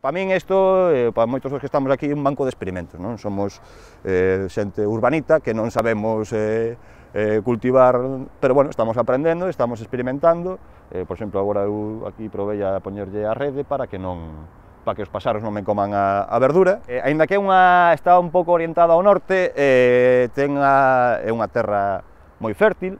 Para min isto, para moitos dos que estamos aquí, é un banco de experimentos, non? Somos xente urbanita que non sabemos cultivar, pero bueno, estamos aprendendo, estamos experimentando. Por exemplo, agora eu aquí provei a poñerlle a rede para que os paxaros non me coman a verdura. Aínda que está un pouco orientada ao norte, é unha terra moi fértil,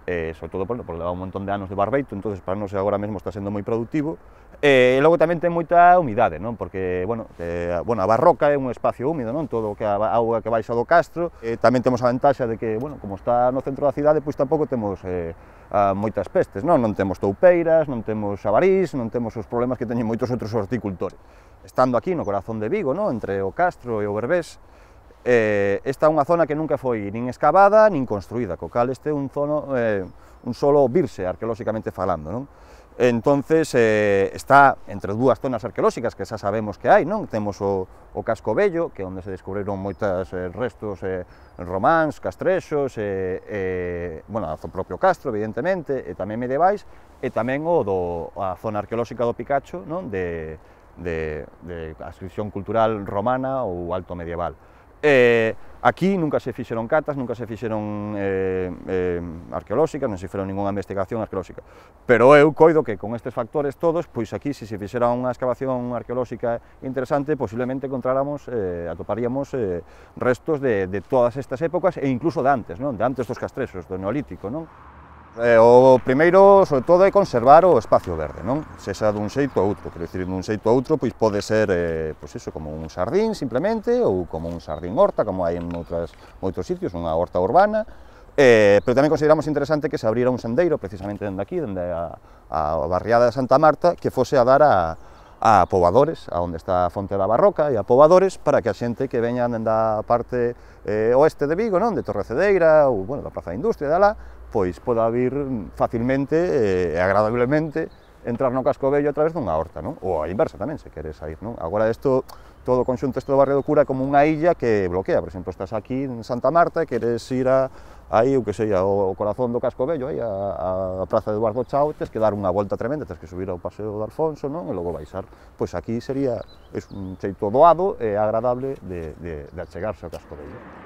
sobre todo porque leva un montón de anos de barbeito, entonces para nós agora mesmo está sendo moi productivo. E logo tamén ten moita humidade, non? Porque, a Barroca é un espacio húmido, non? Todo a auga que baixa do castro. Tamén temos a ventaxa de que, como está no centro da cidade, pois tampouco temos moitas pestes, non? Non temos toupeiras, non temos avarís, non temos os problemas que teñen moitos outros horticultores. Estando aquí no corazón de Vigo, non? Entre o Castro e o Berbés, esta é unha zona que nunca foi nin excavada nin construída, co cal este é un solo virse arqueolóxicamente falando, non? Entonces, está entre dúas zonas arqueolóxicas que xa sabemos que hai, non? Temos o Casco Vello, que é onde se descubriron moitos restos románs, castrexos, o propio Castro, evidentemente, e tamén medievais, e tamén a zona arqueolóxica do Picacho, non? De ascripción cultural romana ou alto medieval. Aquí nunca se fixeron catas, nunca se fixeron arqueolóxicas, non se fixeron ninguna investigación arqueolóxica, pero eu coido que con estes factores todos, pois aquí se fixera unha excavación arqueolóxica interesante, posiblemente atoparíamos restos de todas estas épocas e incluso de antes, non? De antes dos castrexos, do Neolítico, non? O primeiro, sobre todo, é conservar o espacio verde, non? Sexa dun xeito a outro, quero dicir, dun xeito a outro, pois pode ser, como un xardín, simplemente, ou como un xardín horta, como hai en moitos sitios, unha horta urbana, pero tamén consideramos interesante que se abrira un sendeiro, precisamente dende aquí, dende a barriada de Santa Marta, que fose a dar a poboadores, a onde está a Fonte da Barroca, e a poboadores, para que a xente que veña dende a parte oeste de Vigo, non? De Torrecedeira, ou, da Praza da Industria, de alá, pois poda vir facilmente e agradablemente entrar no Casco Vello a través dunha horta, non? Ou a inversa tamén, se queres sair, non? Agora todo o conxunto do barrio do Cura é como unha illa que bloquea, por exemplo, estás aquí en Santa Marta e queres ir aí, o que sei, ao corazón do Casco Vello, aí a Praza de Eduardo Chao, tes que dar unha volta tremenda, tes que subir ao Paseo de Alfonso, non? E logo baixar. Pois aquí sería un xeito doado e agradable de achegarse ao Casco Vello.